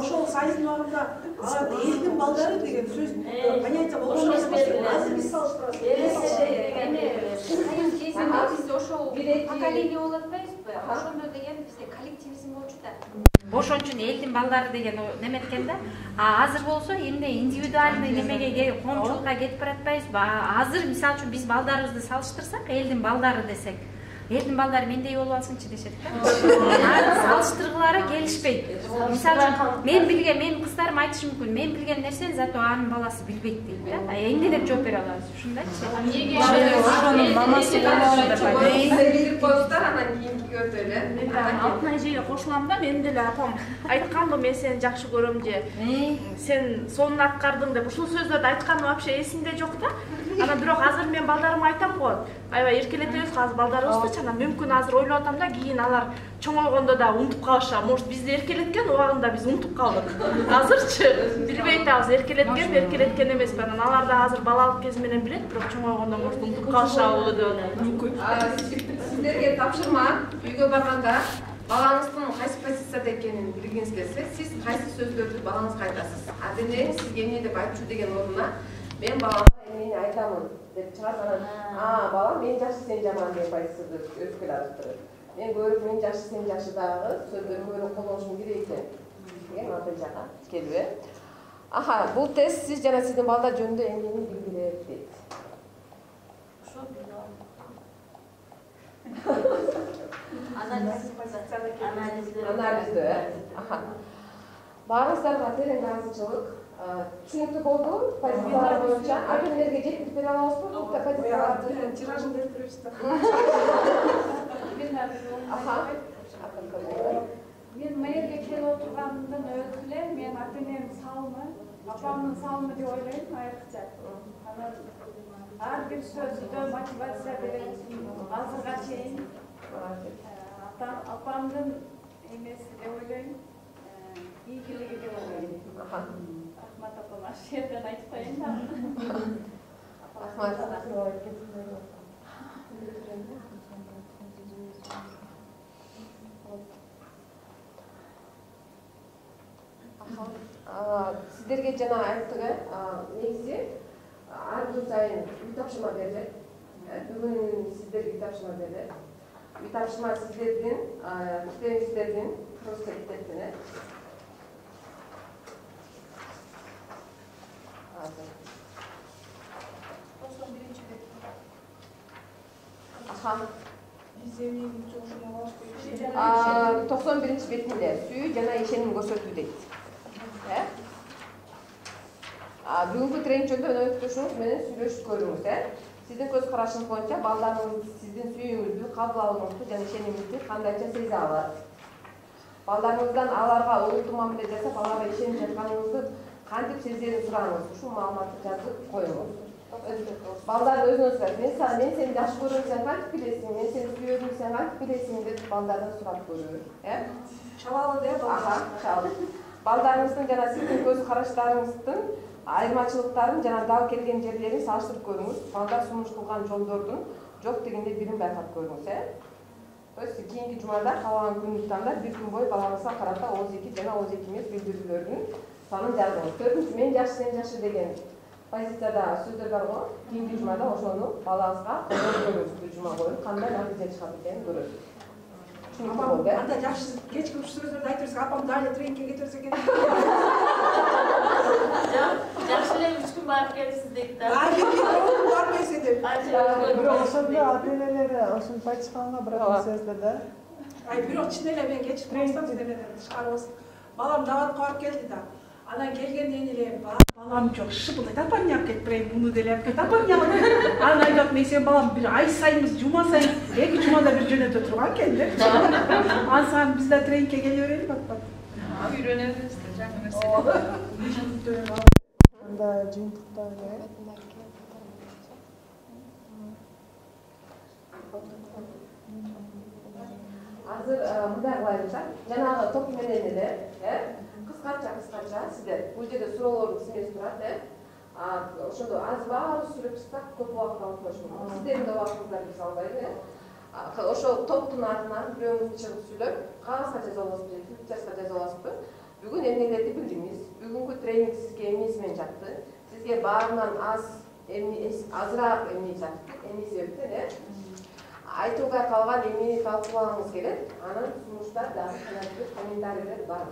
ошол сайыздын убагында элдин балдары деген сөз понятие болгон азыр биз салыштырабыз. Биз ошол поколение болуп атпайбызбы? Ошондо деген бизде коллективизм болчу да. Ошон үчүн элдин балдары деген неме экен да. Азыр болсо эмне индивидуальный немеге коомчулукка кетип баратпайбызбы? Азыр мисалы үчүн биз балдарыбызды салыштырсак, элдин балдары десек, элдин балдары мендей болуп алсынчы дешет да. Салыштыргылары келишпейт. Мисалы үчүн мен билген, менин кыздарым айтышы мүмкүн, мен билген нерсени зато анын баласы билбейт дейт да. Эмне деп жооп бере алабыз? Ушундайчы. Эмнеге ошонун мамасы билип коюңуздар, анан кийинки өтөлү. Алтын эжеге кошулам да, мен деле апам айтканбы, мен сени жакшы көрөм же. Сен сонун аткардың деп. Ушул сөздөрдү айтканы вообще эсимде жок да. Анан бирок азыр мен балдарыма айтам го. Аябай эркелетебиз азыр балдарыбызды, анан мүмкүн азыр ойлоп атам да, кийин алар чоңойгондо да унутуп калышат. Может, бизди эркелеткен убагында биз унутуп калдык. Азырчы билбей атабыз, эркелеткен эмеспи. Анан алар да азыр балалык кези менен билет, бирок чоңойгондо может унутуп калышабы деп мүмкүн. Сиздерге тапшырма, үйгө барганда балаңыздын кайсы позицияда экенин билгиңиз келсе, сиз кайсы сөздөрдү балаңызга айтасыз? Аденең сизге эмне деп айтчу деген ордуна мен баламга эмнени айтамын деп чыгат, анан балам мен жакшы сен жаман деп позицияда өзгөрө алыптыр. Мен көрүп мен жакшы сен жакшы дагы сөздөрдү көрүп колдонушум керек экен деген ата жака келби. Бул тест сиз жана сиздин балдар жөнүндө эмнени билдирет дейт. Анализді. Баарыңыздарга терең ыраазычылык. Түшүнүктүү болду. Позициялар боюнча ата-энелерге жеткирип бере алабызбы? Позицияларды тиражын берип беребиз да. Мен мэрге келип отурганымдан өзү эле мен ата-энем салымы, апамдын салымы деп ойлойм айрыкча. Анан ар бир сөздө мотивация берет. Азырга чейин апамдын эмеси деп ойлойм. Ийгилиги деп ойлойм. Рахмат апама, аш жерден айтпайын да. Сиздерге жана айттык, негизи ар күн сайын үй тапшырма берилет. Бүгүн сиздерге үй тапшырма берилет. Үй тапшырма сиздердин китебиңиздердин просто китептине. Биз эмнени жолшону алабыз? 91-бетинде сүйүү жана ишеним көрсөтүү дейт. Бүгүнкү тренинг жөнүндө өнөктөшүңүз менен сүйлөшүп көрүңүз. Сиздин көз карашыңыз боюнча балдарыңыз сиздин сүйүүңүздү, кабыл алууңузду жана ишенимиңизди кандайча сезе алат? Балдарыңыздан аларга олуттуу мамиле жасап, аларга ишенип жатканыңызды кантип сезерин сураңыз. Ушул маалыматты жазып коюңуз. Балдар өзүнө сурайт. Мен сени жакшы көрөм, сен кантип билесиң? Мен сени сүйөм, сен кантип билесиң деп балдардан сурап көрүү. Чалалы деп чал. Балдарыңыздын жана сиздин көз караштарыңыздын айырмачылыктарын жана дал келген жерлерин салыштырып көрүңүз. Балдар сунуш кылган жолдордун жок дегенде бирин байкап көрүңүз. То есть кийинки жумада калган күндү тандап бир күн бою балаңызга карата ооз эки жана ооз эки эмес билдирүүлөрдүн санын жазыңыз. Төртүнчү мен жакшы сен жакшы деген позицияда сөздөр бар го. Кийинки жумада ошону балаңызга көрүңүз. Бир жума бою кандай натыйжа чыгат экенин көрөсүз. Анда жакшы кечки сөздөрдү айтып берсек, апам дали тренингке кете берсе экен. Жакшы эле 3 күн барып келипсиз дейт да. Барбайсың деп. Бирок ошондо ата-энелер ошентип айтышканга бирок сөздө да. Бирок чын эле мен кечип калсам сенеден тышкарыбыз. Балам даватка барып келди да. Анан келгенден эле балам жок шыпылдайт, апам не алып кетип берейин, муну деле алып кет, апам не алып кет. Анан айтат, мен сен балам бир ай сайын, жума сайын, 2 жумада бир жөнөтө турган экен деп. Анан биз да тренингке келе берели бат. Үйрөнөбүз да жаңы нерсе. Анда жыйынтыкта эле азыр мындай кылайынча, жанагы топ менен эле, кыскача сиздер бул жерде суроолоруңуз эмес турат, ошондо аз баары сүйлөп чыксак көп убакыт алып коюшу мүмкүн. Сиздердин да убактыңыздар биз албайбы. Ошол топтун атынан бирөөңүз чыгып сүйлөп, кагазга жаза аласызбы же твиттерге жаза аласызбы? Бүгүн эмнелерди билдиңиз? Бүгүнкү тренинг сизге эмнеси менен жакты? Сизге баарынан азыраак эмне жакты? Эмне себептен, айтууга калган эмнени талкуулагыңыз келет? Анан сунуштар дагы комментарийлер бар.